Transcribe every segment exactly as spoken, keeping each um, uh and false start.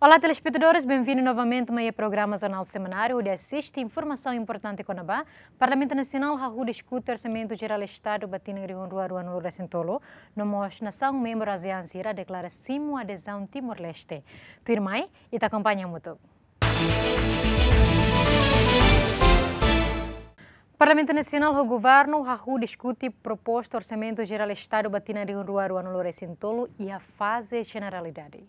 Olá, telespetadores, benvindu novamente mai iha programa Jornál Semanáriu, hodi asiste informasaun importante kona-ba Parlamentu Nasionál hahú diskute Orsamentu Jerál Estadu ba tinan rihun rua ruanulu-resin-tolu, no mós nasaun membru ASEAN sira deklara simu adezaun Timor-Leste. Tuirmai, ita akompaña hamutuk. Parlamentu Nasionál ho Governu hahú diskute proposta Orsamentu Jerál Estadu ba tinan rihun rua ruanulu-resin-tolu iha faze jeneralidade.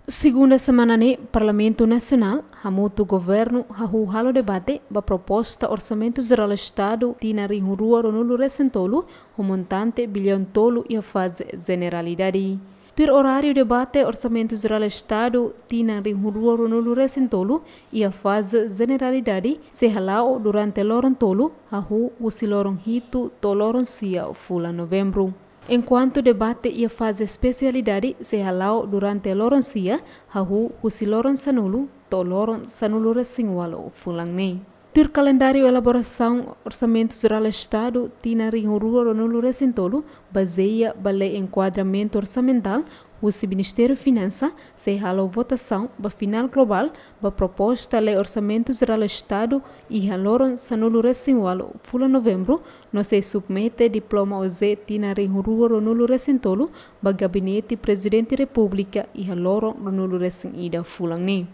Segunda semana ne'e, Parlamentu Nasionál hamutuk Governu hahú halo debate ba proposta Orsamentu Jerál Estadu tinan rihun rua ruanulu-resin-tolu ho montante biliaun tolu iha faze jeneralidade. Tuir oráriu debate Orsamentu Jerál Estadu tinan rihun rua ruanulu-resin-tolu iha faze jeneralidade sei hala'o durante loron tolu, hahú husi loron hitu to'o loron sia fulan Novembru. Enkuantu debate iha faze espesialidade sei hala'o durante loron sia, hahú husi loron sanulu to'o loron sanulu-resin-ualu fulan ne'e. Tuir kalendáriu elaborasaun Orsamentu Jerál Estadu tinan rihun rua ruanulu-resin-tolu, bazeia ba Lei Enkuadramentu Orsamentál husi Ministériu Finansa, sei halo votasaun ba finál globál ba proposta Lei Orsamentu Jerál Estadu iha loron sanulu-resin-ualu fulan Novembru, no sei submete diploma OJE tinan rihun rua ruanulu-resin-tolu ba Gabinete Prezidente Repúblika iha loron ruanulu-resin-ida fulan ne'e.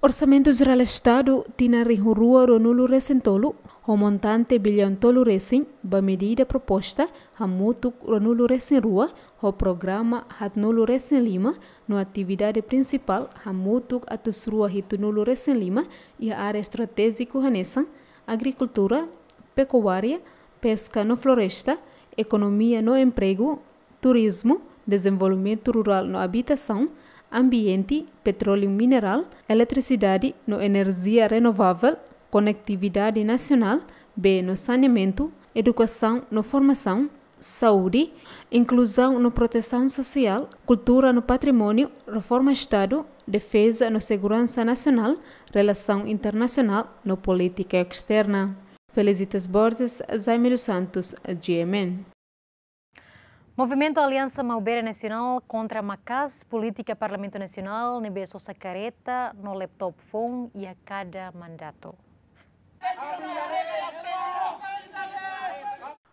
Orsamentu Jerál Estadu tinan rihun rua ruanulu-resin-tolu ho montante biliaun tolu resin ba medida proposta hamutuk ruanulu-resin-rua ho programa haatnulu-resin-lima, no atividade prinsipál hamutuk atus rua hitunulu-resin-lima iha área estratéjiku hanesan agrikultura, pekuária, peska no floresta, ekonomia no empregu, turizmu, dezenvolvimentu rurál no abitasaun, ambiente, petróleu minerál, eletrisidade no enerjia renovavel, konetividade nasionál, bee no saneamentu, edukasaun no formasaun, saúde, inkluzaun no protesaun sosiál, kultura no patrimóniu, reforma Estadu, defeza no seguransa nasionál, relasaun internasionál no polítika esterna. Felicitas Borges, Jaime dos Santos, G M N. Movimentu Aliansa Maubere Nasionál kontra maka'as polítika Parlamentu Nasionál ne'ebé sosa kareta no laptop foun iha kada mandatu.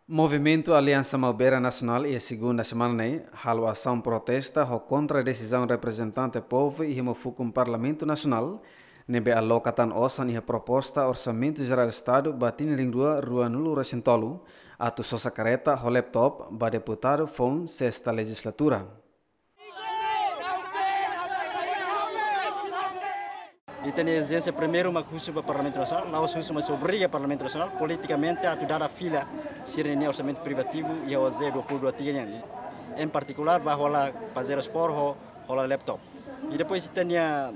Movimentu Aliansa Maubere Nasionál iha segunda semana ne'e halo asaun protesta ho kontra desizaun reprezentante povu iha uma fukun Parlamentu Nasionál ne'ebé aloka tan osan iha proposta Orsamentu Jerál Estadu ba tinan rihun rua ruanulu-resin-tolu, atu sosa kareta ho laptop ba deputadu foun sesta lejizlatura. Ita-nia ezijénsia primeiru mak husu ba Parlamentu Nasionál, la'ós husu, mas obriga Parlamentu Nasionál politikamente atu dada fila sira-nia orsamentu privativu iha OJE dua puluh dua tiga nian. Em partikulár, ba hola pajero spór ho hola laptop. I depois ita-nia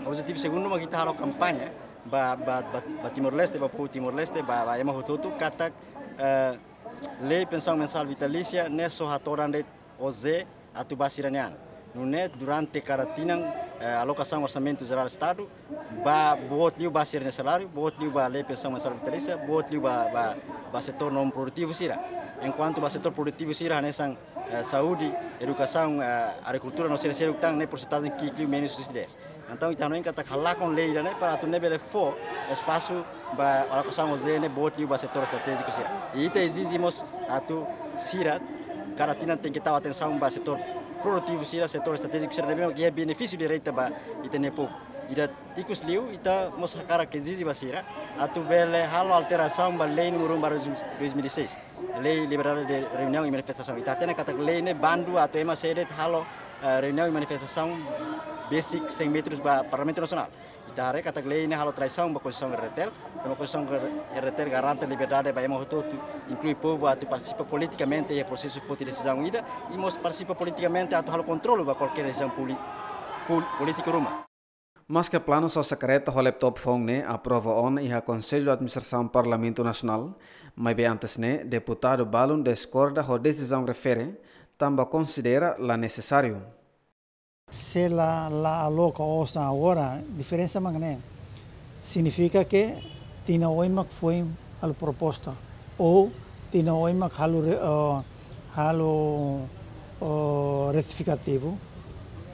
objetivu segundu mak ita halo kampaña ba, ba, ba, ba Timor-Leste, ba povu Timor-Leste, ba, ba ema hotu-hotu katak, eh, lei pensaun mensál vitalísia ne'e só hatodan de'it OJE atu ba sira-nia an. Nune'e durante kada tinan, eh, alokasaun Orsamentu Jerál Estadu ba boot liu ba sira-nia saláriu, boot liu ba lei pensaun mensál vitalísia, boot liu ba, ba, ba setór non produtivu sira. Enkuantu ba setór produtivu sira hanesan, eh, saúde, edukasaun, eh, agrikultura no sira seluk tan ne'e porsentajen ki'ik liu menus husi dez. Entaun ita hanoin katak halakon lei ida-ne'e para atu nune'e bele fó espasu ba alokasaun OJE ne'e boot liu ba setór estratéjiku sira. I ita ezije mós atu sira kada tinan tenke tau atensaun ba setór produtivu sira, setór estratéjiku sira ne'ebé mak iha benefísiu direta ba ita-nia povu. Ida ikus liu, ita mós hakarak ezije ba sira atu bele halo alterasaun ba lei númeru um barra dois mil e seis, lei liberdade de reuniaun i manifestasaun. Ita hatene katak lei ne'e bandu atu ema sé de'it halo, eh, reuniaun i manifestasaun besik cem metros ba Parlamentu Nasionál. Ita haree katak lei ne'e halo traisaun ba Konstituisaun RDTL, tanba Konstituisaun RDTL garante liberdade ba ema hotu-hotu, inklui povu, atu partisipa politikamente iha prosesu foti desizaun ida, i mós partisipa politikamente atu halo kontrolu ba kualkér desizaun poli-, pol-, polítiku ruma. Maske planu sosa kareta ho laptop foun ne'e aprova ona iha Konsellu Administrasaun Parlamentu Nasionál, maibé antes ne'e deputadu balun diskorda ho desizaun refere, tanba konsidera la nesesáriu. Se la, la aloka osan agora, diferensa mak ne'e. Signifika ke tinan oin mak foin halo proposta. Ou tinan oin mak halo re-, eh, halo, eh, retifikativu.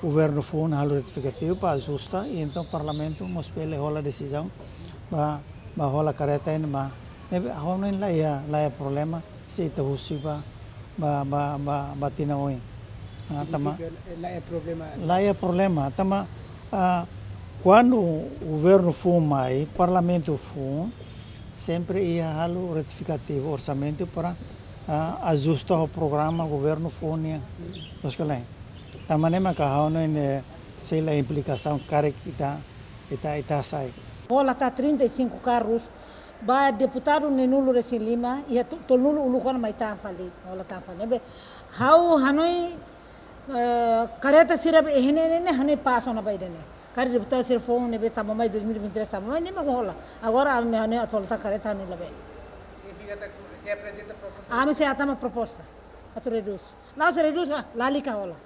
Governu foun halo retifikativu para ajusta, i entaun Parlamentu mós bele hola desizaun ba, ba hola kareta ne'e ba. Ne'ebé ha'u hanoin la iha, la iha problema se ita husik ba, ba, ba, ba, ba tinan oin. Ah, tanba, signifika, eh, la iha problema. La iha problema. Tanba, ah, kuandu governu foun mai, Parlamentu foun, sempre iha halo retifikativu orsamentu para, ah, ajusta ho programa governu foun nian. Loos ka lae? Tanba ne'e maka ha'u hanoin, eh, sei la implikasaun karik ita, ita, ita sai. Hola tan trinta e cinco carros, ba deputadu neenulu-resin-lima, iha to-, tolunulu uluk ona mai tan fali, hola tan fali. Ne'ebé, ha'u hanoin, eh, kareta sira be iha ne'e ne'e, hanoin pasu ona ba ida-ne'e. Karik deputadu sira foun ne'ebé tama mai dois mil e vinte e três tama mai, ne'e mak hola. Agora, ami hanoin atu hola tan kareta hanoin labele. Signifika ita sei aprezenta proposta? Ami sei hatama proposta. Atu redús. La'ós redús, ah, lalika hola.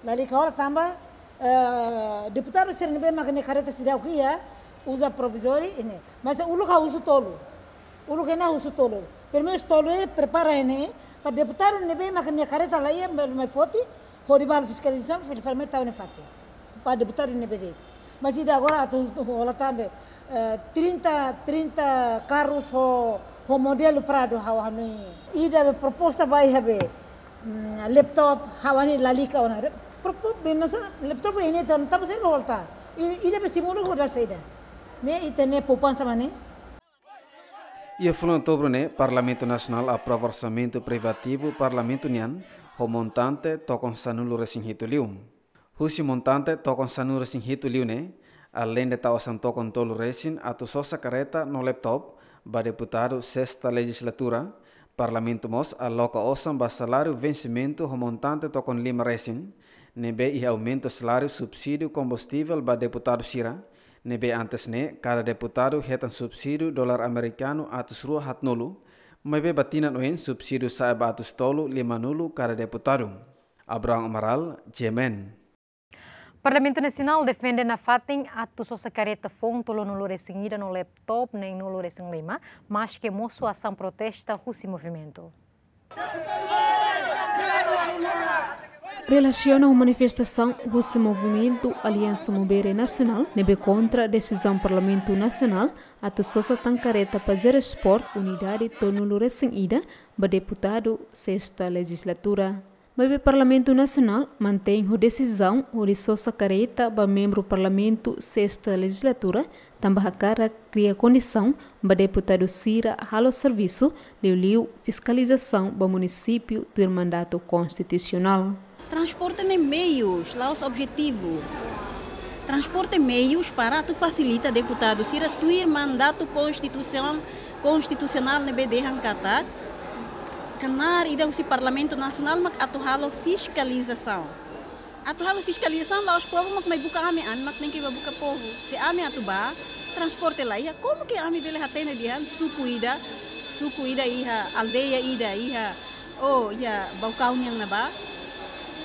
Lalika hola tanba, eh, deputadu sira ne'ebé mak nia kareta seidauk iha, uza provizóriu ne'e. Mas uluk ha'u husu tolu. Uluk ne'e husu tolu. Primeiru tolu ne'e prepara ne'e, para deputadu ne'ebé mak nia kareta la iha, mai, mai foti, hodi ba halo fiskalizasaun, fil-, fil-, mai tau ne'e fatin. Para deputadu ne'ebé de'it. Mas ida agora atu, atu hola tan be, eh, trinta, trinta carros ho, ho modelu Prado ha'u hanoin. Ida be proposta ba iha be, mm, laptop, ha'u hanoin lalika ona. Re-, propo-, be nasa laptop ne'e tan, tanba saida ba hola tan. I, ida be simula ho dal saida. Ne'e ita-nia poupansa mak ne'e. Iha fulan Outubru ne'e, Parlamentu Nasionál aprova orsamentu privativu Parlamentu nian, ho montante tokon sanulu-resin-hitu liu. Husi montante tokon sanulu-resin-hitu liu ne'e, aleinde tau osan tokon tolu-resin atu sosa kareta no laptop ba deputadu sesta lejizlatura, Parlamentu mós aloka osan ba saláriu vensimentu ho montante tokon lima-resin, ne'ebé iha aumentu saláriu subsídiu kombustivel ba deputadu sira, ne'ebé antes ne'e kada deputadu hetan subsídiu dolar amerikanu atus rua haatnulu, maibé ba tinan oin subsídiu sa'e ba atus tolu limanulu kada deputadu. Abraham Amaral, G M N. Parlamentu Nasionál defende nafatin atu sosa kareta foun tolunulu-resin-ida no laptop neenulu-resin-lima, maske mosu asaun protesta husi movimentu. Relasiona ho manifestasaun husi movimentu Aliansa Maubere Nasionál, ne'ebé kontra desizaun Parlamentu Nasionál atu sosa tan kareta Pajero Sport unidade tolunulu-resin-ida ba deputadu sesta lejizlatura. Maibé Parlamentu Nasionál mantein ho desizaun hodi sosa kareta ba membru Parlamentu sesta lejizlatura, tanba hakarak kria kondisaun ba deputadu sira halo servisu, liuliu fiskalizasaun ba munisípiu tuir mandatu konstitusionál. Transporte ne'e meius, la'ós objetivu. Transporte meius para atu fasilita deputadu sira tuir mandatu konstituisaun, konstitusionál ne'ebé dehan katak knaar ida husi Parlamentu Nasionál mak atu halo fiskalizasaun. Atu halo fiskalizasaun la'ós povu mak mai buka ami, ami mak tenke ba buka povu. Se ami atu ba, transporte la iha, komu ke ami bele hatene dehan suku ida, suku ida iha, aldeia ida iha, oh, iha Baucau nian ne'ebá,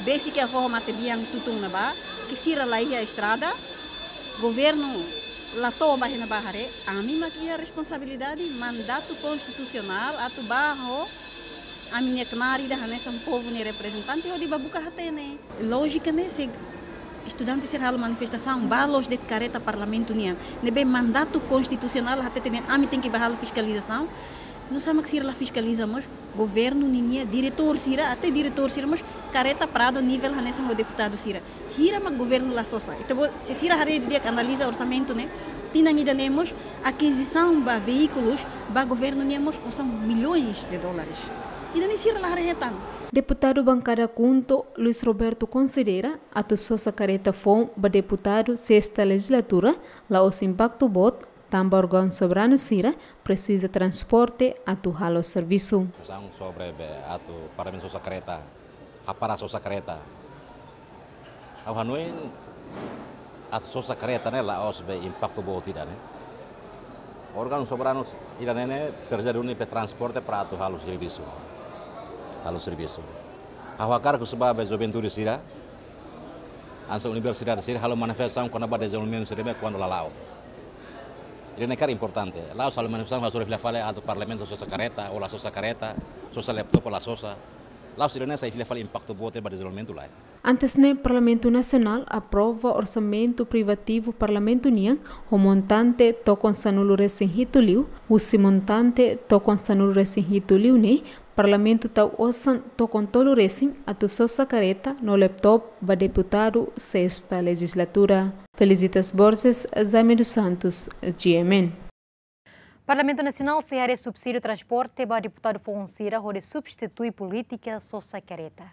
besik iha foho matebian Tutun ne'ebá, ke sira la iha estrada, governu la to'o ba iha ne'ebá haree, ami mak iha responsabilidade, mandatu konstitusionál atu ba ho ami-nia knaar ida hanesan povu nia reprezentante hodi ba buka hatene. Lójika ne'e, se estudante sira halo manifestasaun, ba loos de'it kareta Parlamentu nian, ne'ebé mandatu konstitusionál hatete dehan ami tenke ba halo fiskalizasaun, nusá mak sira la fiskaliza mós governu ninia diretór sira, até diretór sira mós kareta Prado nivel hanesan ho deputadu sira. Hira mak governu la sosa. Ita-boot, se sira haree didi'ak, analiza orsamentu ne'e, tinan ida-ne'e mós akizisaun ba veíkulus ba governu nian mós osan milhões de dólares. Ida-ne'e sira la haree hetan. Deputadu bankada KHUNTO, Luis Roberto, konsidera atu sosa kareta foun ba deputadu sesta lejizlatura la'ós impaktu boot, tanba órgaun soberanu sira presiza transporte atu halo servisu. Diskusaun sobre be atu Parlamentu sosa kareta, hapara sosa kareta. Ha'u hanoin atu sosa kareta ne'e la'ós be impaktu boot ida ne'e. Órgaun soberanu ida ne'e ne'e presiza duni be transporte para atu halo servisu. Halo servisu. Ha'u hakarak husu ba be juventude sira, hanesan universidade sira halo manifestasaun kona-ba dezenvolvimentu sira be kuandu lala'ok. Ida-ne'e karik importante. La'ós halo manifestasaun hasoru fila fali atu Parlamentu sosa kareta, ou la sosa kareta, sosa laptop, ou la sosa. La'ós ida-ne'e sai fila fali impaktu boot ba dezenvolvimentu lae. Antes ne'e, Parlamentu Nasionál aprova orsamentu privativu Parlamentu nian ho montante tokon sanulu-resin-hitu liu, husi montante tokon sanulu-resin-hitu liu ne'e, Parlamentu tau osan tokon tolu-resin atu sosa kareta no laptop ba deputadu sesta lejislatura. Felicitas Borges, Jaime dos Santos, G M N. Parlamentu Nasionál sei haree subsídiu transporte ba deputadu foun sira hodi substitui polítika sosa kareta.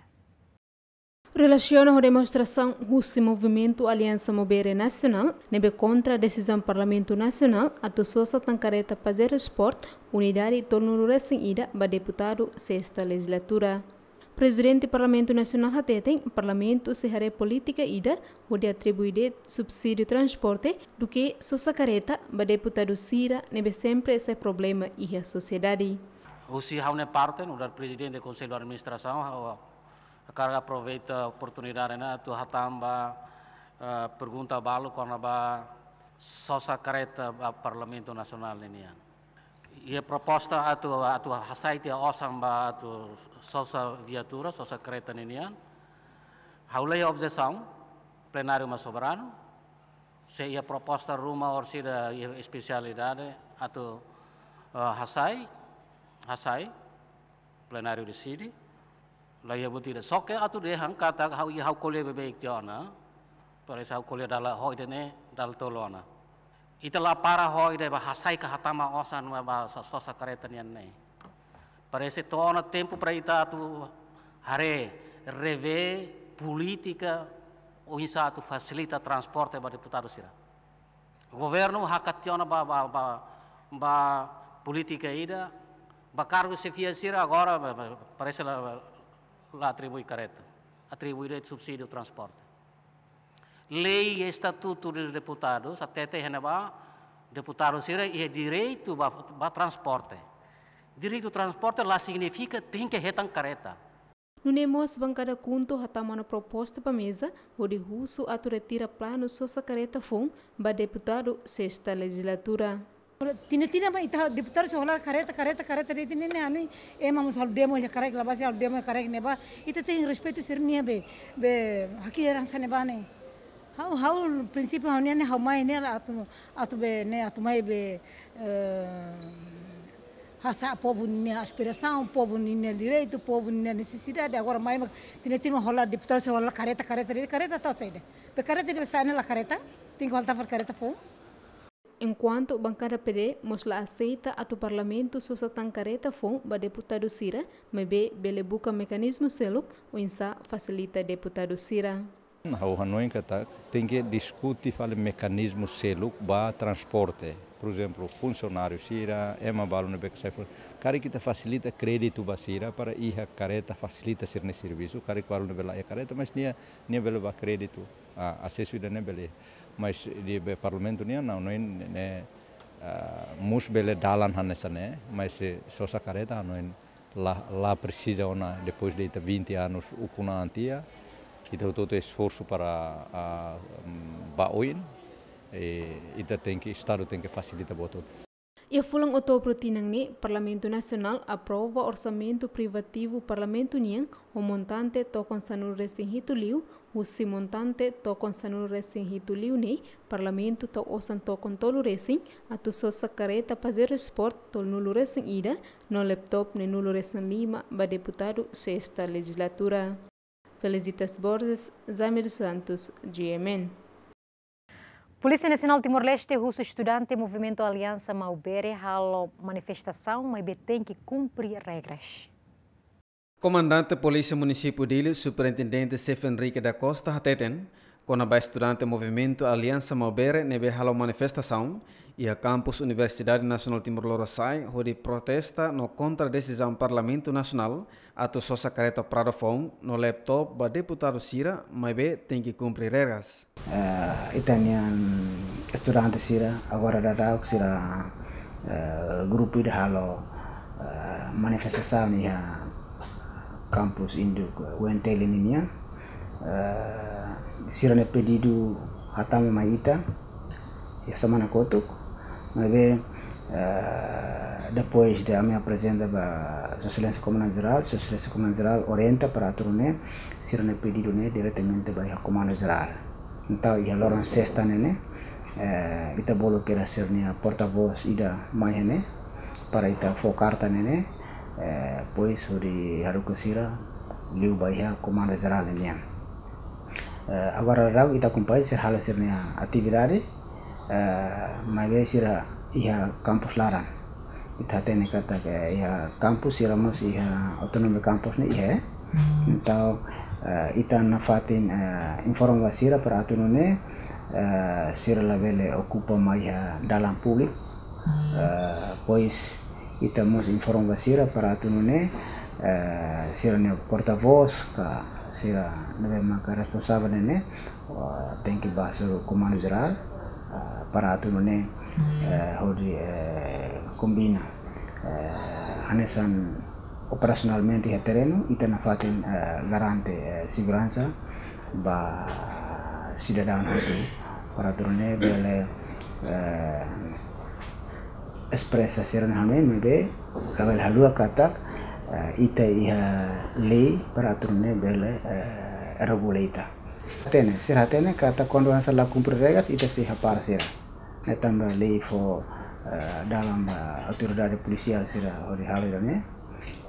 Relasiona ho demonstrasaun husi Movimentu Aliansa Maubere Nasionál, ne'ebé kontra desizaun Parlamentu Nasionál atu sosa tan kareta Pajero Sport unidade tolunulu-resin-ida ba deputadu sesta lejislatura. Prezidente Parlamentu Nasionál hateten, Parlamentu sei haree polítika ida hodi atribui de'it subsídiu transporte duké sosa kareta ba deputadu sira ne'ebé sempre sai problema iha sosiedade. Husi ha'u-nia parte, nu'udar Prezidente Konsellu Administrasaun, ha'u hakarak aproveita oportunidade ne'e atu hatán ba, eh, pergunta balu kona-ba sosa kareta ba Parlamentu Nasionál ninian. Iha proposta atu, atu hasai tiha osan ba atu sosa viatura, sosa kareta ninian. Ha'u la iha objesaun, plenáriu mak soberanu. Se iha proposta ruma orsida iha espesialidade atu, eh, hasai, hasai, plenáriu deside. La iha buat ida. Só ke atu dehan katak ha'u, ha'u ko'alia beibeik tiha ona. Parese ha'u ko'alia dala ho ida-ne'e, dala tolu ona. Ita la para ho ida ba hasai ka hatama osan ba, ba sa-, sosa kareta nian ne'e. Parese to'o ona tempu para ita atu haree, revee polítika oinsá atu fasilita transporte ba deputadu sira. Governu hakat tiha ona ba, ba, ba, ba polítika ida, ba kargu xefia sira agora, ba, ba, parese la, la atribui kareta, atribui de'it subsídiu transporte. Lei Estatutu dos Deputados hatete iha ne'ebá, deputadu sira iha direitu ba, ba transporte. Direitu transporte la signifika tenke hetan kareta. Nune'e mós bankada KHUNTO hatama ona proposta ba meza, hodi husu atu retira planu sosa kareta foun ba deputadu sesta lejislatura. Tinan-tinan mak ita deputadu sira hola kareta, kareta, kareta de'it, tinan-tinan ne'e, ema mós halo demo iha karik, la basi halo demo iha karik ne'ebá. Ita tenke respeitu sira-nia be, be haki heransa ne'ebá ne'e. Ha'u, ha'u prinsípiu ha'u-nian ne'e ha'u mai ne'e atu, atu be ne'e atu mai be, eh, hasa'e povu nia aspirasaun, povu nia direitu, povu nia nesesidade. Agora mai mak tinan-tinan mak hola deputadu sira hola kareta, kareta de'it, kareta tau saida. Be kareta de'it be sa'e ne'e la kareta, tenke hola tafar kareta foun. Enkuantu bankada P D mós la aseita atu Parlamentu sosa tan kareta foun ba deputadu sira, maibé bele buka mekanizmu seluk oinsá fasilita deputadu sira. Ha'u hanoin katak tenke diskute fali mekanizmu seluk ba transporte. Por ezemplu, funsionáriu sira, ema balu ne'ebé ke sai fo-, karik ita fasilita kréditu ba sira para iha kareta fasilita sira-nia servisu, karik balu ne'ebé la iha kareta, mas nia, nia bele ba kréditu. Ah, asesu ida-ne'e bele. Mas iha be Parlamentu nian, ha'u hanoin ne'e, ah, mós bele dalan hanesan ne'e, mas se sosa kareta ha'u hanoin la, la presiza ona depois de ita vinte anos ukun an tiha, ita hotu-hotu esforsu para, ah, mm, ba oin, eh, ita tenke, Estadu tenke fasilita buat hotu. Iha fulan Outubru tinan ne'e, Parlamentu Nasionál aprova orsamentu privativu Parlamentu nian ho montante tokon sanulu-resin-hitu liu, husi montante tokon sanulu-resin-hitu liu ne'e, Parlamentu tau osan tokon tolu-resin atu sosa kareta Pajero Sport tolunulu-resin-ida no laptop neenulu-resin-lima ba deputadu sesta lejislatura. Felicitas Borges, Jaime dos Santos, G M N. Polísia Nasionál Timor-Leste husu estudante Movimentu Aliansa Maubere halo manifestasaun, maibé tenke kumpre regras. Komandante Polísia Munisípiu Dili, Superintendente Xefe Henrique da Costa, hateten, kona-ba estudante Movimentu Aliansa Maubere ne'ebé halo manifestasaun iha kampus Universidade Nasionál Timor Lorosa'e, hodi protesta no kontra desizaun Parlamentu Nasionál atu sosa kareta Prado foun no laptop ba deputadu sira, maibé tenke kumpre regras. Eh, ita-nian estudante sira, agora daudaun sira, eh, grupu ida halo, eh, manifestasaun iha kampus induk U N T L ninian. Eh, sira-nia pedidu hatama mai ita iha semana kotuk, maibé, eh, Depois de ami aprezenta ba Sua Exelénsia Komandante Jerál, Sua Exelénsia Komandante Jerál orienta para atu nune'e sira-nia pedidu ne'e diretamente ba iha Komandu Jerál. Entaun, iha loron sesta ne'e ne'e, eh, ita bolu kedas sira-nia portavós ida mai iha ne'e, para ita fó karta ne'e ne'e, eh, depois hodi haruka sira liu ba iha Komandu Jerál ne'e nian. Eh, agora daudaun ita akompaña sira halo sira-nia atividade, eh, maibé sira iha kampus laran. Ita hatene katak, eh, iha kampus sira mós iha autonomia kampus ne'e iha, eh. Entaun, eh, ita nafatin, eh, informa ba sira para atu nune'e, eh, sira labele okupa mai iha dalan públiku. Eh, depois ita mós informa ba sira para atu nune'e, eh, sira-nia portavós ka sira ne'ebé maka responsavel ne'e ne'e, eh, tenke bá hasoru Komandu Jerál, eh, para atu nune'e, eh, hodi, eh, kombina, eh, hanesan operasionalmente iha terrenu, ita nafatin, eh, garante, eh, seguransa ba sidadaun hotu para atu nune'e bele, eh, espresa sira-nia hanoin, maibé labele haluha katak, eh, ita iha lei para atu nune'e bele, eh, regula ita. Hatene, sira hatene katak kuandu hanesan la kumpre regras, ita sei hapara sira. Ne'e tanba lei fó, eh, dalan ba autoridade polisiál sira hodi halo ida-ne'e.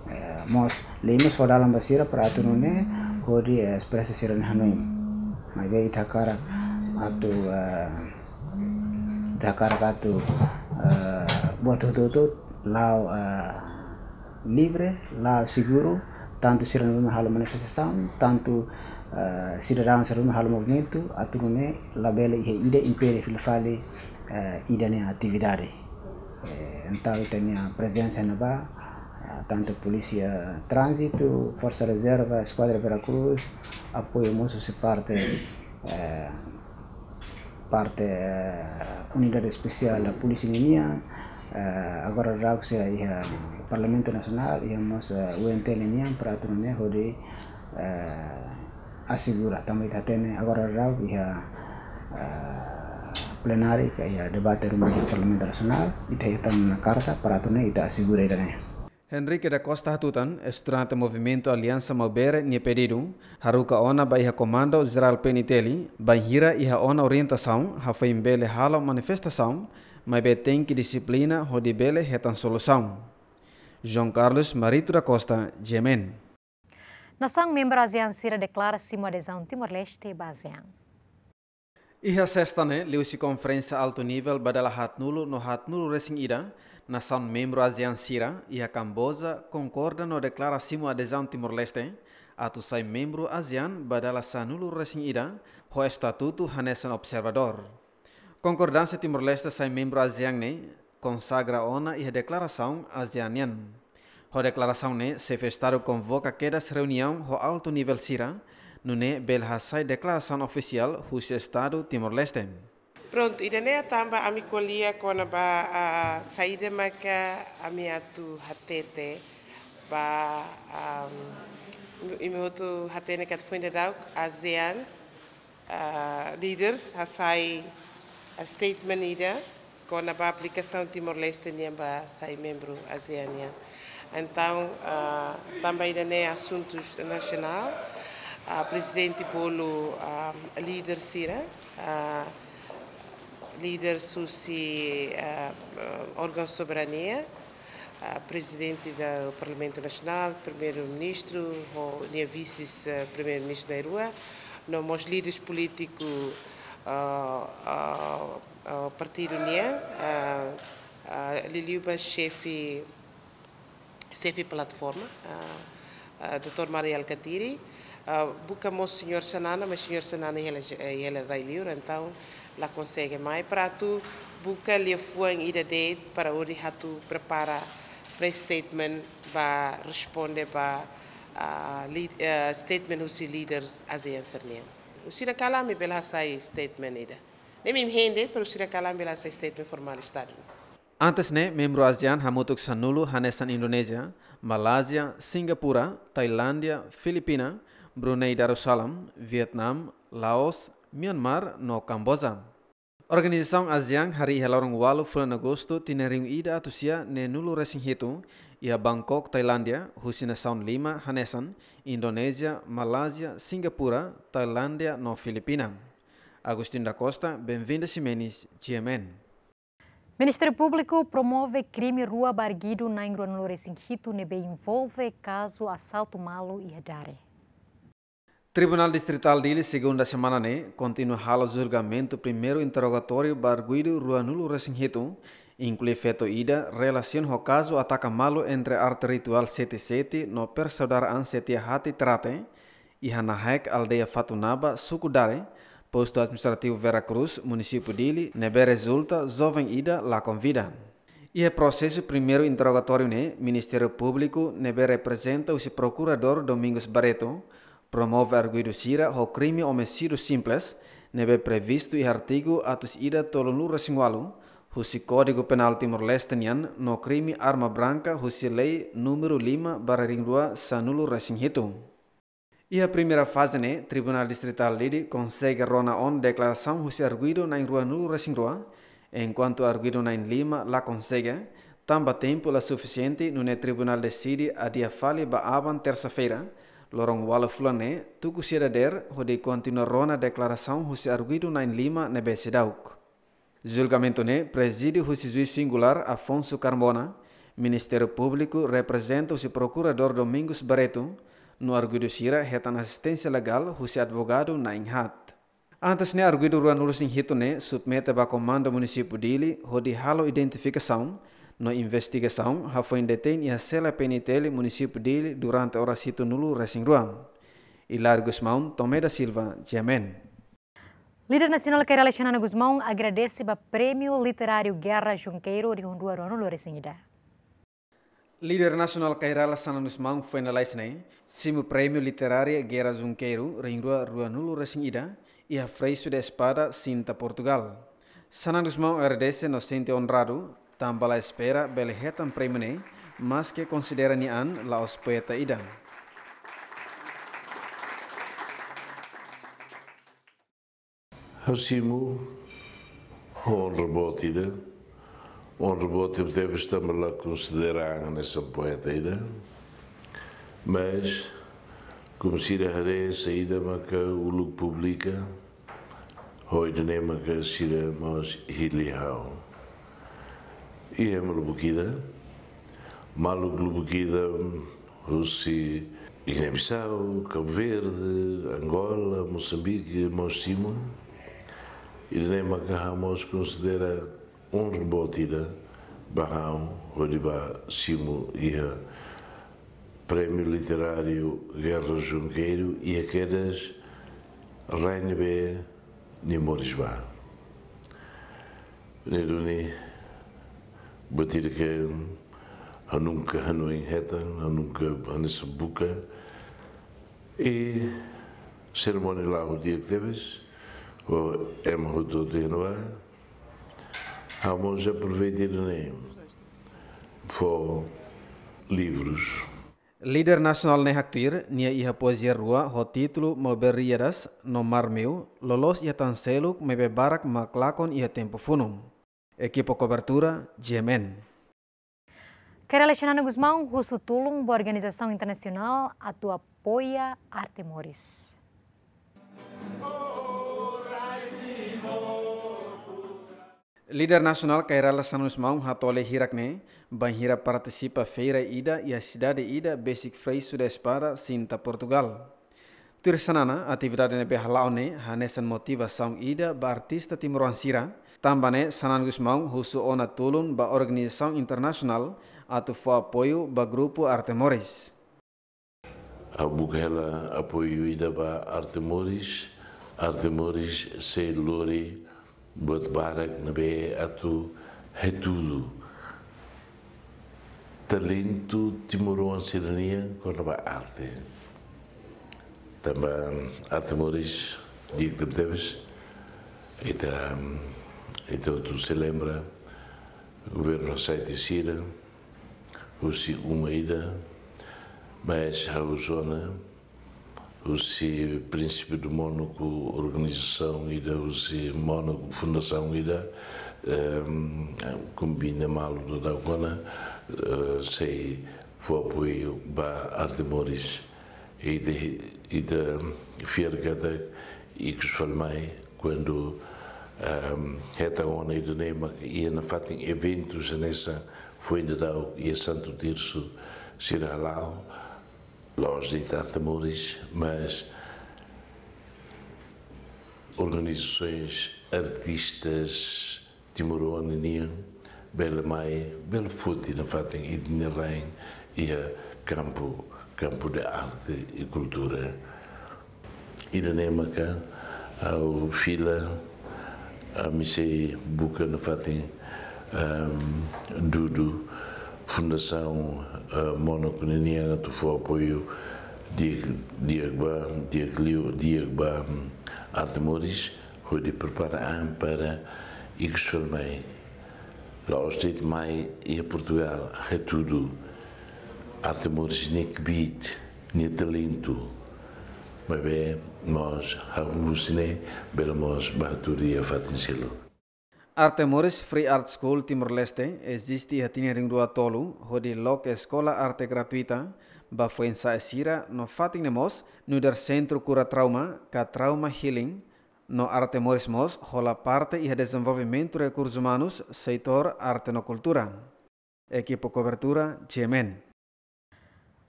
Eh, mós, lei mós fó dalan ba sira para atu nune'e hodi, eh, espresa sira-nia hanoin. Maibé ita hakarak atu, eh, ita hakarak atu, eh, buat hotu-hotu la'o, eh, livre, la'o seguru, tantu sira ne'ebé halo manifestasaun, tantu, eh, sidadaun sira ne'ebé halo movimentu, atu nune'e labele iha ida impede fila fali, eh, ida-nia atividade. Eh, entaun ita-nia prezensa ne'ebá, eh, tantu Polísia Tránzitu, Forsa Rezerva, Eskuadra Vera Cruz, apoiu mós husi parte, eh, parte, eh, Unidade Espesiál da Polísia ninian, eh, agora daudaun sei iha Parlamentu Nasionál, iha mós, eh, U N T ninian, para atu nune'e hodi, eh, asegura, tanba ita hatene agora daudaun iha, eh, plenária, ka iha debate ruma iha Parlamentu Nasionál, ita hetan ona karta para atu nune'e ita asegura ida-ne'e. Henrique da Costa hatutan, estudante Movimentu Aliansa Maubere nia pedidu, haruka ona ba iha Komandu Jerál P N T L, bainhira iha ona orientasaun, hafoin bele halo manifestasaun, maibé tenke dixiplina hodi bele hetan solusaun. João Carlos Marito da Costa, G M N. Nasaun membru ASEAN sira deklara simu adezaun Timor-Leste ba ASEAN. Iha sesta ne'e, liuhusi konferénsia altu nivel ba dala haatnulu no haatnulu-resin-ida, nasaun membru ASEAN sira iha Kamboja konkorda no deklara simu adezaun Timor-Leste atu sai membru ASEAN ba dala sanulu-resin-ida, ho estatutu hanesan observadór. Konkordánsia Timor-Leste sai membru ASEAN ne'e konsagra ona iha deklarasaun ASEAN nian. Ho deklarasaun ne'e, xefe Estadu konvoka kedas reuniaun ho altu nivel sira, nune'e bele hasai deklarasaun ofisiál husi Estadu Timor-Leste. Prontu, ida-ne'e tanba ami ko'alia kona-ba, ah, saida maka ami atu hatete ba, ah, imi hotu hatene katak foin daudauk ASEAN, ah, leaders hasai, ah, statement ida kona-ba aplikasaun Timor-Leste nian ba sai membru ASEAN nian. Entaun, ah, tanba ida-ne'e asuntu nasionál, ah, prezidente bolu, ah, líder sira, ah, líder husi, ah, órgaun soberania, ah, prezidente do Parlamentu Nasionál, primeiru-ministru, ho nia vises, ah, primeiru-ministru na'in-rua, no mós líderes polítiku, ah, ah, ah, partidu nian, ah, ah, liuliu ba xefe, xefe plataforma, ah, ah, doutór Mari Alkatiri, ah, buka mós señór Xanana, mas señór Xanana iha hela, eh, iha hela rai-li'ur, entaun la konsege mai para atu buka liafuan ida de'it para hodi atu prepara press statement ba responde ba, ah, li-, eh, statement husi líder ASEAN sira-nian. Husi ida kalan ami bele hasai statement ida. Ne'e imi hein de'it, para husi ida kalan ami bele hasai statement formál Estadu. Antes ne'e, membru ASEAN hamutuk sanulu hanesan Indonézia, Malázia, Singapura, Tailándia, Filipina, Brunei Darussalam, Vietnam, Laos, Myanmar no Kamboja. Organizasaun ASEAN harii iha loron ualu fulan Agostu tinan rihun ida atus sia neenulu resin hitu iha Bangkok, Tailándia, husi nasaun lima hanesan Indonézia, Malázia, Singapura, Tailándia no Filipina. Agostinho da Costa, Benvinda Ximenes, G M N. Ministériu Públiku promove krime rua ba arguidu na'in ruanulu resin hitu ne'ebé envolve kazu asaltu malu iha Dare. Tribunál Distritál Dili, segunda semana ne'e, kontinua halo julgamentu primeiru interrogatóriu ba arguidu ruanulu resin hitu, inklui feto ida, relasiona ho kazu ataka malu entre arte rituál Sete Sete no persaudaraan Setia Hati Trate, iha Nahaek, aldeia Fatunaba, suku Dare, postu administrativu Vera Cruz, munisípiu Dili, ne'ebé rezulta joven ida lakon vida. Iha prosesu primeiru interrogatóriu ne'e, Ministériu Públiku ne'ebé reprezenta husi Prokuradór Domingos Barreto promove arguidu sira ho krime omisídiu simples, ne'ebé previstu iha artigu atus ida tolunulu resin ualu husi Kódigu Penál Timor-Leste nian no krime arma branka husi lei númeru lima barra rihun rua sanulu resin hitu. Iha primeira faze ne'e, Tribunál Distritál Dili konsege rona ona deklarasaun husi arguidu na'in ruanulu resin rua, enkuantu arguidu na'in lima la konsege, tanba tempu la sufisiente, nune'e tribunál deside adia fali ba aban tersa-feira, loron ualu fulan ne'e, tuku sia dadeer, hodi kontinua rona deklarasaun husi arguidu na'in lima ne'ebé seidauk. Julgamentu ne'e prezide husi juís singulár Afonso Carmona, Ministériu Públiku reprezenta husi Prokuradór Domingos Barreto, no arguidu sira hetan asisténsia legál husi advogadu na'in haat. Antes ne'e arguidu ruanulu resin hitu ne'e submete ba Komandu Munisípiu Dili hodi halo identifikasaun no investigasaun hafoin detein iha sela P N T L Munisípiu Dili durante oras hitunulu resin rua. Hilário Gusmão, Tomé da Silva, G M N. Líder nasionál Kay Rala Xanana Gusmão agradese ba Prémiu Literáriu Guerra Junqueiro rihun rua ruanulu resin ida. Líder nasionál Kay Rala Xanana Gusmão foin lalais ne'e simu Prémiu Literáriu Guerra Junqueiro rihun rua ruanulu resin ida iha Freixo da Espada, Sinta, Portugal. Xanana Gusmão agradese no sente onradu, tanba la espera bele hetan prémiu ne'e, maske konsidera nia an la'ós poeta ida. Ha'u simu ho onra boot ida, onra boot tebetebes tanba la konsidera an hanesan poeta ida, mas, komu sira haree saida maka uluk publika, ho ida-ne'e maka sira mós hili ha'u. Iha ema lubuk ida, maluk lubuk ida husi Guiné-Bissau, Cabo Verde, Angola, Moçambique, mós simu. Ida-ne'e maka ha'u mós konsidera onra boot ida ba ha'u hodi bá simu iha Prémiu Literáriu Guerra Junqueiro iha kedas rai ne'ebé nia moris bá. Ne'e duni buat ida ke ha'u nunka hanoin hetan, ha'u nunka hanesan buka. I serimónia la'o di'ak tebes, ho ema hotu-hotu iha ne'ebá. Ha'u mós aproveita ida-ne'e fó livrus. Líder nasionál ne'e haktuir, nia iha poezia rua ho títulu Maubere Riadas no Mar Meu, loloos iha tan seluk maibé barak mak lakon iha tempu funu. Ekipa kobertura, G M N. Kay Rala Xanana Gusmão husu tulun ba organizasaun internasionál atu apoia arte moris. Líder nasionál Kay Rala Xanana Gusmão hatoli hirak ne'e bainhira partisipa feira ida iha sidade ida besik Freixo da Espada, Sinta, Portugal. Tuir Xanana, atividade ne'ebé hala'o ne'e hanesan motivasaun ida ba artista timoroan sira. Tanba ne'e Xanana Gusmão husu ona tulun ba organizasaun internasionál atu fó apoiu ba grupu arte moris. Ha'u buka hela apoiu ida ba arte moris, arte moris sei lori buat barak ne'ebé atu hatudu talentu timoroan sira-nian kona-ba arte. Tanba arte moris di'ak tebetebes, ita, ita hotu sei lembra governu hasai tiha sira husi uma ida, mas ha'u husu ona husi prinsípiu do Mónaco, organizasaun ida, husi Mónaco, fundasaun ida, ehm, kombina malu daudauk ona, eh, sei fó apoiu ba Arte Moris. Ita, ita fiar katak ikus fali mai, kuandu, ehm, hetan ona ida-ne'e mak iha nafatin eventus hanesan foin daudauk iha Santo Tirso sira hala'o, la'ós de'it Arte Moris, mas organizasoens, artistas timoroan ninian bele mai, bele foti nafatin ita-nia rain iha kampu, kampu de arte e kultura. Ida-ne'e maka ha'u fila, ami sei buka nafatin, ehm, dudu fundasaun, eh, Mónaco ninian atu fó apoiu di'ak, di'ak ba, di'ak liu, di'ak ba, mm, Arte Moris, hodi prepara an para ikus fali mai. La'ós de'it mai iha Portugal, hatudu Arte Moris nia kbiit, nia talentu. Maibé mós hahú husi ne'e, bele mós ba hatudu iha fatin seluk. Arte Moris Free Art School Timor-Leste eziste iha tinan rihun rua tolu, hodi loke eskola arte gratuita ba foin-sa'e sira no fatin ne'e mós nu'udar sentru kura trauma, ka trauma healing, no Arte Moris mós hola parte iha dezenvolvimentu rekursus umanus, setór arte no kultura. Ekipa kobertura, G M N.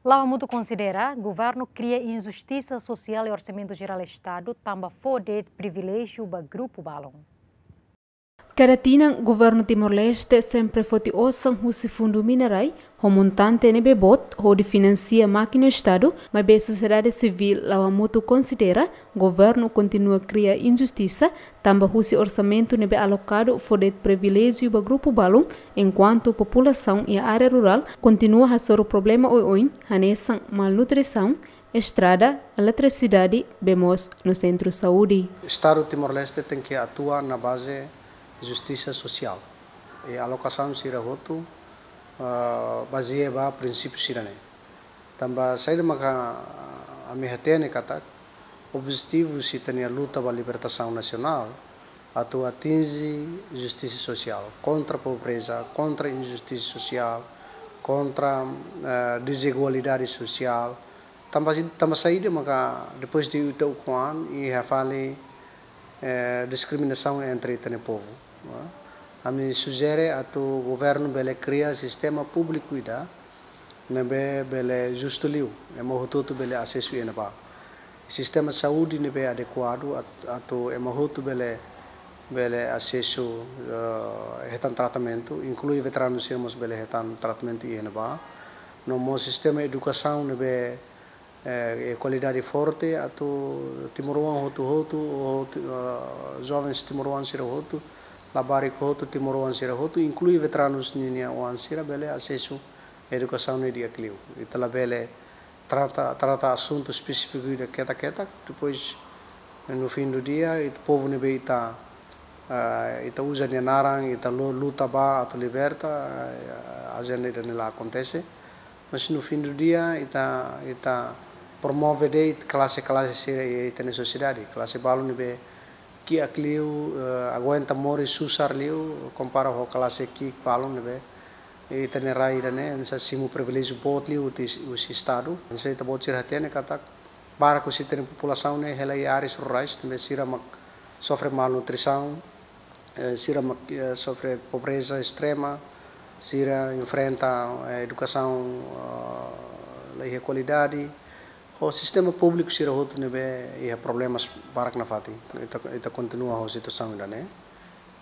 La'o Hamutuk konsidera governu kria injustisa sosiál iha Orsamentu Jerál Estadu tanba fó de'it priviléjiu ba grupu balun. Kada tinan, governu Timor-Leste sempre foti osan husi fundu minerai, ho montante ne'ebé boot, hodi finansia mákina Estadu, maibé sosiedade sivíl La'o Hamutuk konsidera, governu kontinua kria injustisa, tanba husi orsamentu ne'ebé alokadu fó de'it priviléjiu ba grupu balun, enkuantu populasaun iha área rurál kontinua hasoru problema oioin, hanesan malnutrisaun, estrada, eletrisidade, bee moos no sentru saúde. Estadu Timor-Leste tenke atua na baze justisa sosiál. I alokasaun sira hotu, ah, bazeia ba prinsípiu sira-ne'e. Tanba saida maka, ah, ami hatene katak objetivu husi ita-nia luta ba libertasaun nasionál atu atinje justisa sosiál, kontra pobreza, kontra injustisa sosiál, kontra, eh, dezigualdade sosiál. Tanba, tanba saida maka depois de ita ukun an iha fali, eh, diskriminasaun entre ita-nia povu, eh? Ami sujere atu governu bele kria sistema públiku ida ne'ebé bele justu liu, ema hotu-hotu bele asesu iha ne'ebá. Sistema saúde ne'ebé adekuadu at-, atu ema hotu bele, bele asesu, eh, hetan tratamentu, inklui veteranu sira mós bele hetan tratamentu iha ne'ebá. No mós sistema edukasaun ne'ebé, eh, kualidade forte, atu timoroan hotu-hotu, hotu, eh, jovens timoroan sira hotu, labarik hotu, timoroan sira hotu, inklui veteranus ninia oan sira bele asesu edukasaun ne'e di'ak liu. Ita labele trata, trata asuntu espesífiku ida ketak-ketak, depois, no fim do dia, ita povu ne'ebé ita, ah, ita uza nia naran, ita lu-, luta ba atu liberta, ah, ajenda ida-ne'e la akontese. Mas no fim do dia, ita, ita promove de'it klase-klase sira iha ita-nia sosiedade. Klase balun ne'ebé kiak liu, eh, aguenta moris susar liu, kompara ho klase ki'ik balun ne'ebé ita-nia rai ida-ne'e, hanesan simu priviléjiu boot liu husi, husi Estadu. Hanesan ita-boot sira hatene katak, barak husi ita-nia populasaun ne'e hela iha áreas rurais, ne'ebé sira mak sofre malnutrisaun, eh, sira mak, eh, sofre pobreza estrema, sira enfrenta, eh, edukasaun, eh, la iha kualidade, ho sistema públiku sira hotu ne'ebé iha problemas barak nafatin. Ita, ita kontinua ho situasaun ida-ne'e.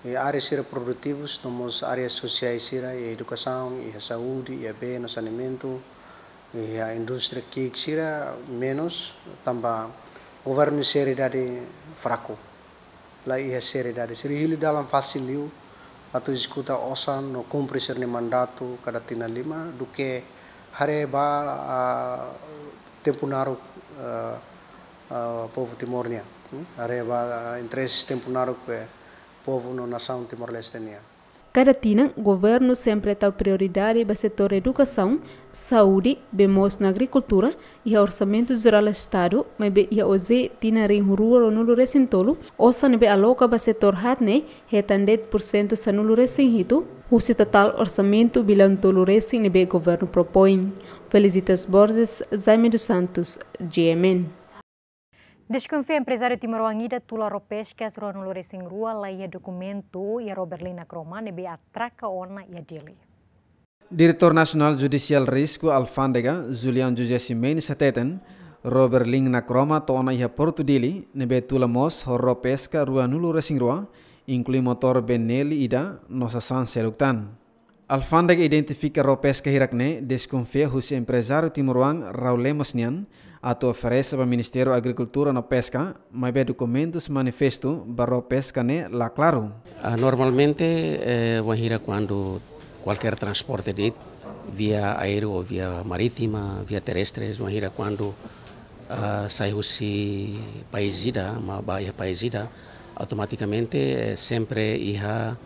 I área sira produtivus, no mós área sosiais sira, iha edukasaun, iha saúde, iha bee no saneamentu, iha indústria ki'ik sira menus, tanba governu seriedade fraku. La iha seriedade. Sira hili dalan fasil liu atu ezekuta osan no kumpre sira-nia mandatu kada tinan lima, duké haree ba, ah, tempu naruk, ah, ah, povu Timor nian. Hmm? Haree ba, ah, interese tempu naruk be povu no nasaun Timor-Leste nian. Kada tinan, governu sempre tau prioridade ba setór edukasaun, saúde, bee moos no agrikultura, iha Orsamentu Jerál Estadu, maibé iha OJE tinan rihun rua ruanulu resin tolu, osan ne'ebé aloka ba setór haat ne'e, hetan de'it pursentu sanulu resin hitu, husi totál orsamentu biliaun tolu resin ne'ebé governu propoin. Felicitas Borges, Jaime dos Santos, G M N. Deskonfia emprezáriu timoroan ida tula ró peskas ruanulu resin rua la iha dokumentu iha ró Berlin Nakroma ne'ebé atraka ona iha Dili. Diretór Nasionál Judisiál Risku Alfándega, Julião José Ximenes hateten, ró Berlin Nakroma to'o ona iha Portu Dili, ne'ebé tula mós ho ró peska ruanulu resin rua, inklui motór Benelli ida no sasán seluk tan. Alfándega identifika ró peska hirak-ne'e deskonfia husi emprezáriu timoroan Raul Lemos nian, atu oferese ba Ministériu Agrikultura no Peska, maibé dokumentus manifestu ba ró peska ne'e la klaru. Ah, normalmente, eh, wainhira kuandu kualkér transporte de'it, via aéreu ou via marítima, via terrestres, wainhira kuandu, ah, sai husi país ida, mak ba iha país ida, automatikamente, eh, sempre iha,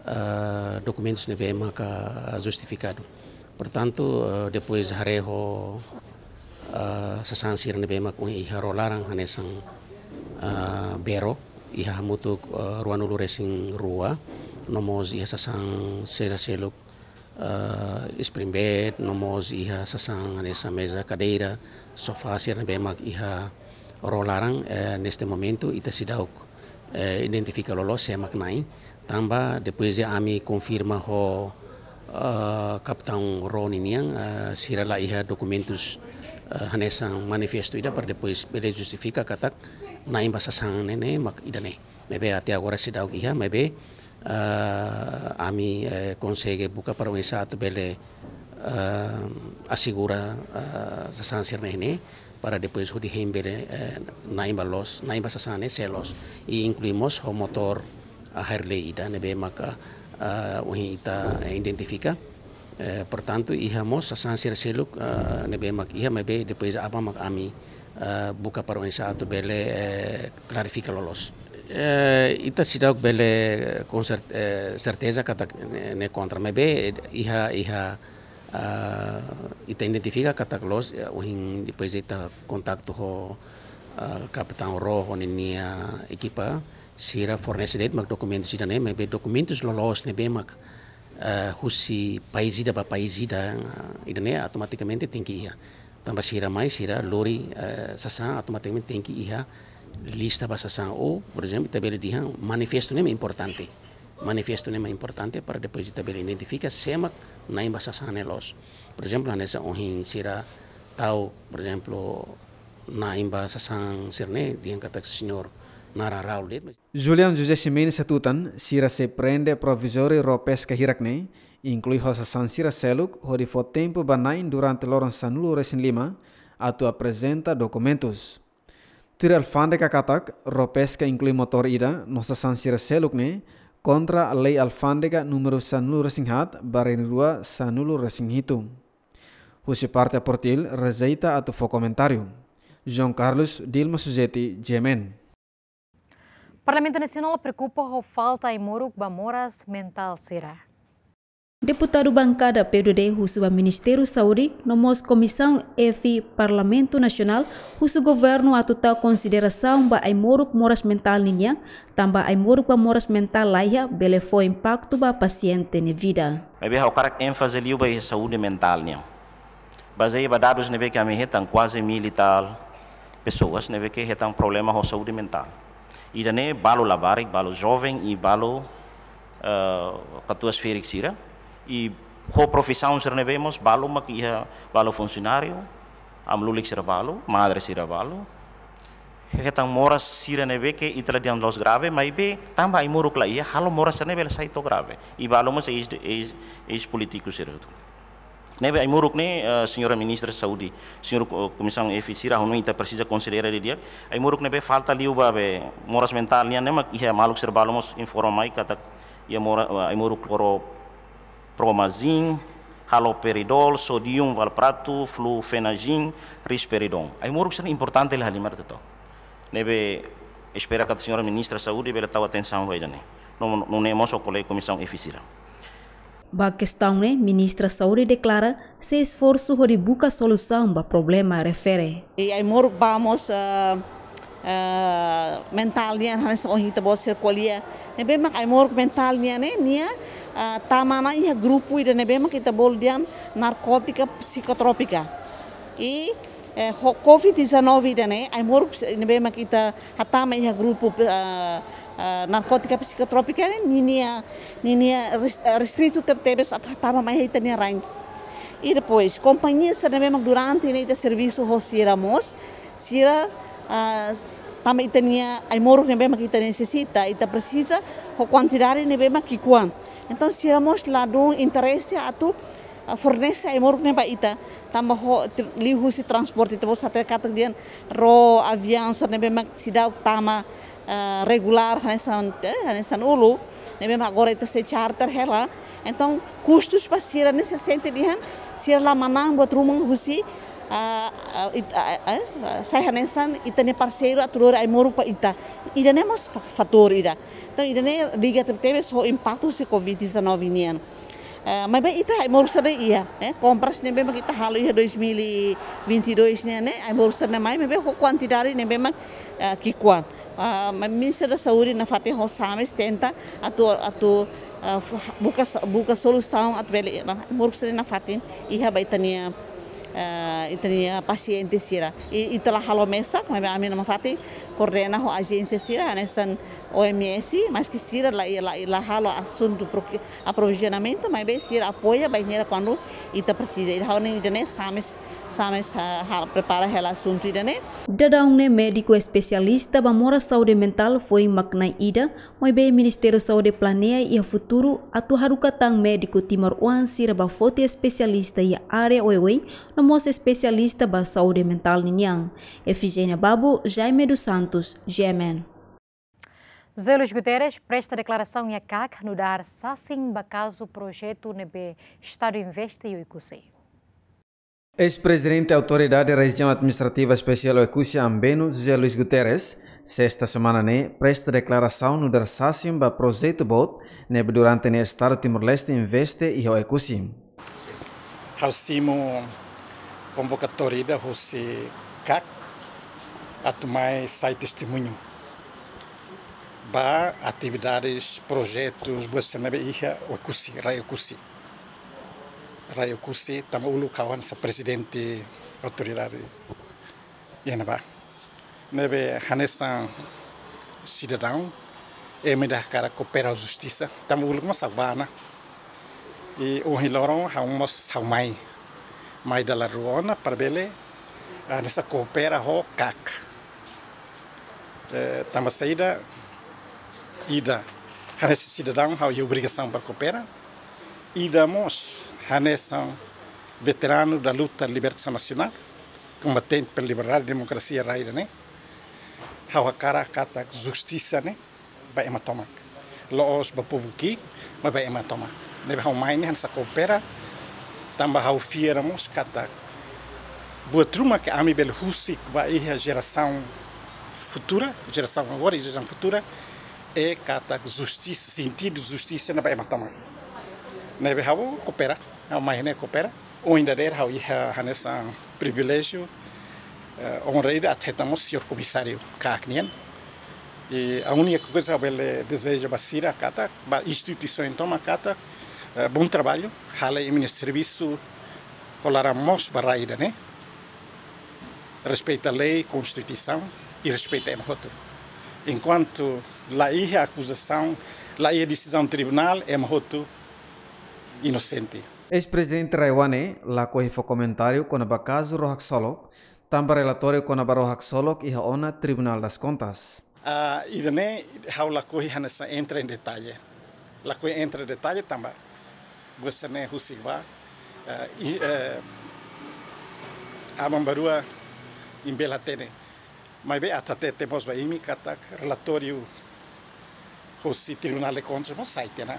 ah, dokumentus ne'ebé maka justifikadu. Portantu, eh, depois haree ho, eh, sasán sira ne'ebé mak ohin iha ró laran hanesan, eh, bee ró, iha hamutuk, eh, ruanulu resin rua, no mós iha sasán sira seluk, eh, spring bed, no mós iha sasán hanesan meza, kadeira, sofá sira ne'ebé mak iha ró laran, eh, neste momentu ita seidauk, eh, identifika loloos sé mak na'in. Tanba depois de ami konfirma ho, eh, kapitaun ró ninian, eh, sira la iha dokumentus, eh, hanesan manifestu ida para depois bele justifika katak na'in ba sasán ne'e, ne'e mak ida-ne'e. Maibé até agora seidauk iha, maibé, eh, ami, eh, konsege buka para oinsá atu bele, eh, asegura, eh, sasán sira-ne'e ne'e, para depois hodi hein bele, eh, na'in ba loos, na'in ba sasán ne'e sé loos. I inklui mós ho motór, ah, Harley ida ne'ebé maka, ah, ohin ita, eh, identifika. Eh, portantu, iha mós sasán sira seluk, ah, ne'ebé mak iha, maibé depois aban mak ami, ah, buka para oinsá atu bele, eh, klarifika loloos. Eh, ita seidauk bele, eh, com cer-, eh, certeza katak ne'e, ne'e kontra, maibé iha, iha, ah, ita identifika katak loos, eh, ohin depois ita kontaktu ho, ah, kapitaun ró ho ninia ekipa, sira fornese de'it mak dokumentus ida-ne'e, maibé dokumentus loloos ne'ebé mak, eh, husi país ida ba país ida, ah, ida-ne'e automatikamente tenke iha. Tanba sira mai, sira lori, eh, sasán, automatikamente tenke iha lista ba sasán. Ou, por ezemplu, ita bele dehan manifestu ne'e mak importante. Manifestu ne'e mak importante para depois ita bele identifika sé mak na'in ba sasán ne'e loos. Por ezemplu, hanesan ohin sira tau, por ezemplu, na'in ba sasán sira-ne'e, dehan katak señór naran Raul de'it. Julião José Ximenes hatutan, sira sei prende provizóriu ró peska hirak-ne'e, inklui ho sasán sira seluk, hodi fó tempu ba na'in durante loron sanulu resin lima, atu aprezenta dokumentus. Tuir alfándega katak, ró peska inklui motór ida, no sasán sira seluk ne'e, kontra lei alfándega númeru sanulu resin haat, barra rua sanulu resin hitu. Husi parte Portu Dili, rejeita atu fó komentáriu. João Carlos, Dilma Suzeti, G M N. Parlamentu Nasionál preokupa ho falta ai-moruk ba moras mentál sira. Deputadu bankada P U D D husu ba Ministériu Saúde, no mós Komisaun F Parlamentu Nasionál, husu governu atu tau konsiderasaun ba ai-moruk moras mentál ninian, tanba ai-moruk ba moras mentál laiha bele fó impaktu ba pasiente nia vida. Maibé ha'u hakarak énfaze liu ba iha saúde mentál nian. Bazeia ba dadus ne'ebé ke ami hetan, kuaze mil e tal pessoas ne'ebé ke hetan problema ho saúde mentál. Ida-ne'e balu labarik, balu joven i balu, eh, katuas-ferik sira. I ho profisaun sira ne'ebé mós balu mak iha, balu funsionáriu, amu-lulik sira balu, madre sira balu. Hetan moras sira ne'ebé ke ita la dehan la'ós grave, maibé tanba ai-moruk la iha, halo moras sira ne'e bele sai to'o grave. I balu mós eis, eis, eis-polítiku sira. Ne'ebé ai-moruk ne'e, eh, señora Ministra Saúde, señór ko-, Komisaun F sira, ha'u hanoin ita presiza konsidera didi'ak. Ai-moruk ne'ebé falta liu ba be moras mentál nian ne'e mak iha maluk sira balu mós informa mai katak iha mora-, eh, ai-moruk kloro-, promazin, haloperidol, sodium valproato, flufenazin, risperidon. Ai-moruk sira importante liu halimar to'o. Ne'ebé espera katak señora Ministra Saúde bele tau atensaun ba ida-ne'e. No, no, nune'e mós ho kolega Komisaun F sira. Ba kestaun ne'e, Ministra Saúde deklara sei esforsu hodi buka solusaun ba problema refere. I ai-moruk ba mós, eh, eh, mentál nian, hanesan ohin ita-boot sira ko'alia. Ne'ebé mak ai-moruk mentál nian ne'e, nia, eh, tama ona iha grupu ida ne'ebé mak ita bolu dehan narkótika psikotrópika. I, eh, ho covid dezanove ida-ne'e, ai-moruk se-, ne'ebé mak ita hatama iha grupu, eh, eh, narkótika psikotrópika ne'e, ninia, ninia res-, eh, restritu tebetebes atu hatama mai iha ita-nia rain. I depois, kompañia sira ne'ebé mak durante ne'e ita servisu ho sira mós, sira, ah, tanba ita-nia ai-moruk ne'ebé mak ita nesesita, ita presiza ho kuantidade ne'ebé mak ki'ikoan. Entaun, sira mós ladún interese atu, ah, fornese ai-moruk ne'e ba ita, tanba ho, te-, liuhusi transporte, ita-boot hatene katak dehan ró, aviaun sira ne'ebé mak seidauk tama, ah, regulár, hanesan, eh, hanesan uluk, ne'ebé mak agora ita sei charter hela. Entaun, kustus ba sira ne'e sei sente dehan, sira la manán buat ruma husi, ah, ah, it-, ah, ah, ah, sai hanesan ita-nia parseiru atu lori ai-moruk ba ita. Ida-ne'e mós fa-, fatór ida. Entaun, ida-ne'e liga tebetebes ho impaktu husi covid dezanove nian. Eh, maibé ita ai-moruk sira-ne'e iha, eh, kompras ne'ebé mak ita halo iha dois mil e vinte e dois nian ne'e, ai-moruk sira-ne'e mai, maibé ho kuantidade ne'ebé mak, eh, ki'ikoan. Ah, ma-, Ministra da Saúde nafatin ho SAMES tenta atu, atu, ah, fu-, buka sa-, buka solusaun atu bele, nah, ai-moruk sira-ne'e nafatin iha ba ita-nia, ah, ita-nia pasiente sira. I, ita la halo mesak, maibé ami nafatin koordena ho ajénsia sira, hanesan O M S, maski sira la, la, la halo asuntu pro-, aprovizionamentu, maibé sira apoia bainhira kuandu ita presiza. Ida ha'u-nia ida-ne'e SAMES, SAMES, ah, hal prepara hela asuntu ida-ne'e. Daudaun ne'e médiku espesialista ba moras saúde mentál foin mak na'in ida, maibé Ministériu Saúde planeia iha futuru atu haruka tan médiku timoroan sira ba foti espesialista iha área oioin, no mós espesialista ba saúde mentál ninian. Efigénia Babo, Jaime dos Santos, G M N. José Luís Guterres presta deklarasaun iha CAC nu'udar sasin ba kazu projetu ne'ebé Estadu investe iha Oekusi. Eis-prezidente Autoridade Rejiaun Administrativa Espesiál Oekusi Ambeno, José Luís Guterres, sesta semana ne'e presta deklarasaun nu'udar sasin ba projetu boot ne'ebé durante ne'e Estadu Timor-Leste investe iha Oekusi. Ha'u simu konvokatória ida husi CAC atu mai sai testemuñu ba atividades, projetus, buat sira ne'ebé iha Oekusi, rai Oekusi. Rai Oekusi, tanba uluk ha'u hanesan prezidente autoridade iha ne'ebá. Ne'ebé hanesan sidadaun, ema ida hakarak koopera ho justisa, tanba uluk mós ha'u bá ona. I ohin loron ha'u mós ha'u mai. Mai dala rua ona para bele, ah, hanesan koopera ho CAC. Eh, tanba saida, ida, hanesan sidadaun ha'u iha obrigasaun para koopera. Ida mós hanesan veteranu da luta libertasaun nasionál, kombatente pela liberdade, demokrasia, rai ida-ne'e. Ha'u hakarak katak justisa ne'e ba ema tomak. La'ós ba povu ki'ik, mas ba ema tomak. Ne'ebé ha'u mai ne'e hanesan koopera, tanba ha'u fiar mós katak buat ruma ke ami bele husik ba iha jerasaun futura, jerasaun agora i jerasaun futura, é katak justisa, sentidu justisa ne'e ba ema tomak. Ne'ebé ha'u koopera, ha'u mai ne'e koopera. Ohin dadeer ha'u iha hanesan priviléjiu, eh, onra ida atu hetan mós señór komisáriu CAC nian. I a única coisa ha'u bele dezeja ba sira katak, ba instituisaun tomak katak, eh, bom trabalho, halo imi-nia servisu ho laran moos ba rai ida-ne'e. Respeita lei, konstituisaun i respeita ema hotu. Enkuantu la iha akuzasaun, la iha desizaun tribunál, ema hotu inosente. Eis-prezidente RAEOA ne'e lakohi fó komentáriu kona-ba kazu Ró Haksolok, tanba relatóriu kona-ba Ró Haksolok iha ona Tribunal das Kontas. Ah, ida-ne'e ha'u lakohi hanesan entra em detalhe. Lakohi entra detalle tanba buat sira-ne'e husik ba, eh, i, eh, aban-bainrua imi bele hatene. Maibé atu hatete mós ba imi katak relatóriu husi Tribunal de Contas mós sai tiha ona.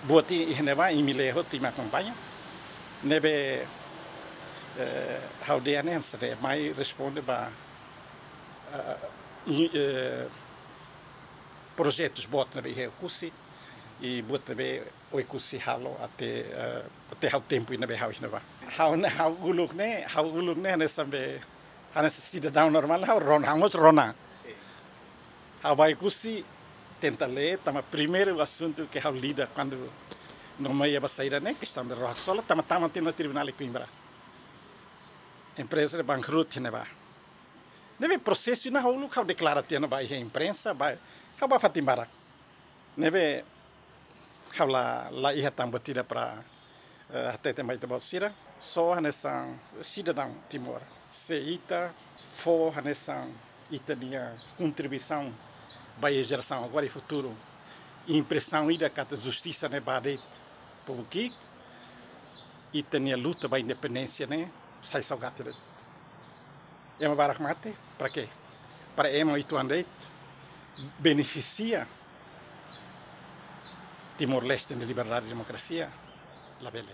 Buat ida-ne'e ba imi lee hotu, imi akompaña. Ne'ebé, eh, ha'u dehan ne'e hanesan ne'e mai responde ba, eh, i, eh, projetus boot ne'ebé iha Oekusi. I buat ne'ebé Oekusi halo até, eh, até ha'u tempu ne'ebé ha'u iha ne'ebá. Ha'u ne'e, ha'u uluk ne'e, ha'u uluk ne'e hanesan be, hanesan sidadaun normál, ha'u rona, ha'u mós rona. Sin. Ha'u ba Oekusi tenta lee, tanba primeiru asuntu ke ha'u lida kuandu nomeia ba saida ne'e, kestaun de roha sola, tama-tama tiha ona Tribunál de Coimbra. Empreza ne'e bankrut iha ne'ebá. Ne'ebé prosesu ne'e ha'u uluk ha'u deklara tiha ona ba iha imprensa, ba, ha'u ba fatin barak. Ne'ebé ha'u la, la iha tan buat ida para, eh, hatete mai ita-boot sira, só hanesan sidadaun Timor. Se ita fó hanesan ita-nia kontribuisaun ba iha jerasaun agora i futuru, impresaun ida katak justisa ne'e ba de'it povu ki'ik, ita-nia luta ba independénsia ne'e sai saugati de'it. Ema barak mate, para quê? Para ema uitoan de'it benefisia Timor-Leste nia liberdade i demokrasia, labele.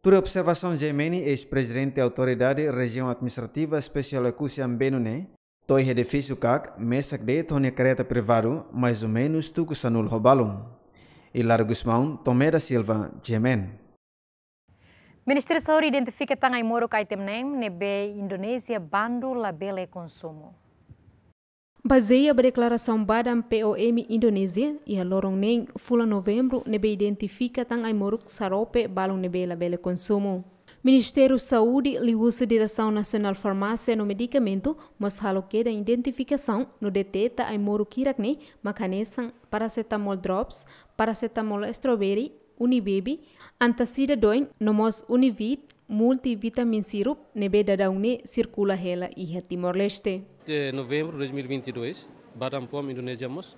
Tuir observasaun G M N, eis-prezidente Autoridade Rejiaun Administrativa Espesiál Oekusi Ambeno ne'e, to'o iha edifísiu kak, mesak de'it ho nia karreta privadu, mais ou menus tuku sanulu ho balun. Hilário Gusmão, Tomé da Silva, G M N. Ministériu Saúde identifika tan ai-moruk item neen ne'ebé Indonézia bandu labele konsumu. Bazeia ba deklarasaun Badan P O M Indonézia, iha loron neen fulan Novembru ne'ebé identifika tan ai-moruk xarope balun ne'ebé labele konsumu. Ministériu Saúde liuhusi Diresaun Nasionál Farmásia no Medikamentu mós halo kedan identifikasaun no deteta ai-moruk hirak-ne'e mak hanesan paracetamol drops, paracetamol strawberry, Unibaby, antacida doen, no mós Univit, multivitamin syrup, ne'ebé daudaun ne'e sirkula hela iha Timor-Leste. De novembru dois mil e vinte e dois, Badan P O M Indonézia mós,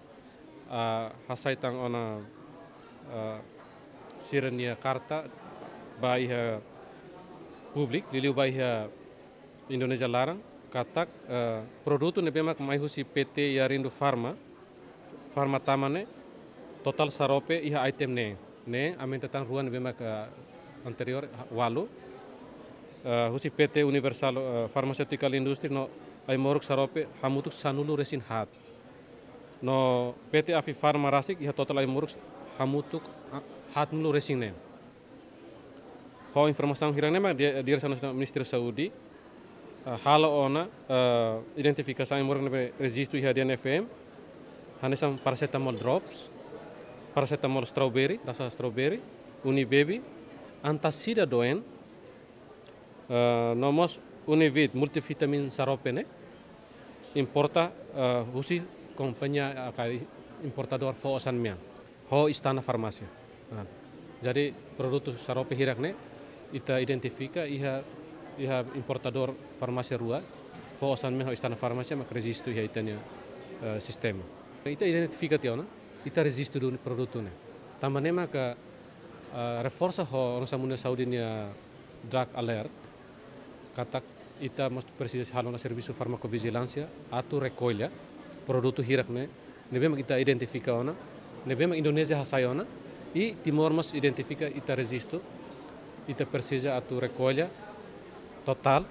ah, hasai tan ona, ah, sira-nia karta ba iha públiku, liuliu ba iha Indonézia laran, katak, eh, produtu ne'ebé mak mai husi P T Yarindo Pharma, Pharma Tama ne'e, totál xarope iha item neen. Neen aumenta tan rua ne'ebé mak, eh, anteriór, ha-, ualu. Eh, husi P T Universal, eh, Pharmaceutical Industry no ai-moruk xarope hamutuk sanulu-resin-haat. No P T Afi Pharma rasik iha totál ai-moruk hamutuk, ah, haatnulu-resin-neen. Ho informasaun hirak-ne'e mak di-, Diresaun Nasionál Ministériu Saúde, eh, halo ona, eh, identifikasaun ai-moruk ne'ebé rejistu iha D N F M, hanesan paracetamol drops, paracetamol strawberry, rasa strawberry, Unibaby, antacida doen, eh, no mós Univit multivitamin xarope ne'e, importa, eh, husi kompañia, eh, ka importadór fó osan mean ho Istana Farmásia. Nah, jadi produtu xarope hirak-ne'e ita identifika iha, iha importadór farmásia rua, fó osan mean ho Istana Farmásia mak rejistu iha ita-nia, eh, sistema. Ita identifika tiha ona, ita rejistu duni produtu ne'e. Tanba ne'e maka, eh, reforsa ho Organizasaun Mundiál Saúde nia drug alert, katak ita mós presiza halo ona servisu farmakovijilánsia atu rekolla produtu hirak-ne'e, ne'ebé mak ita identifika ona, ne'ebé mak Indonézia hasai ona, i Timor mós identifika, ita rejistu, ita presiza atu rekolla totál,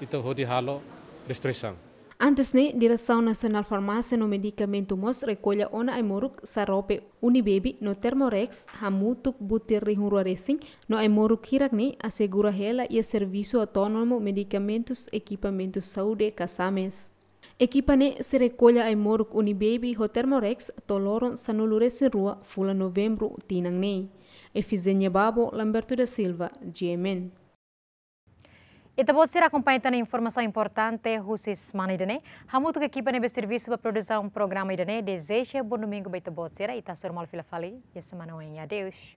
ita hodi halo destruisaun. Antes ne'e, Diresaun Nasionál Farmásia no Medikamentu mós rekolla ona ai-moruk xarope Unibaby no Thermorex hamutuk butir rihun rua resin, no ai-moruk hirak-ne'e asegura hela iha Servisu Autónomu Medikamentus Ekipamentus Saúde ka SAMES. Ekipa ne'e sei rekolla ai-moruk Unibaby ho Thermorex to'o loron sanulu-resin-rua fulan Novembru tinan ne'e. Efizénia Babo, Lamberto da Silva, G M N. Ita-boot sira akompaña tan informasaun importante husi semana ida-ne'e. Hamutuk ho ekipa ne'ebé servisu ba produsaun programa ida-ne'e, dezeja bom domingu ba ita-boot sira, ita hasoru malu fila fali iha semana oin. Adeus.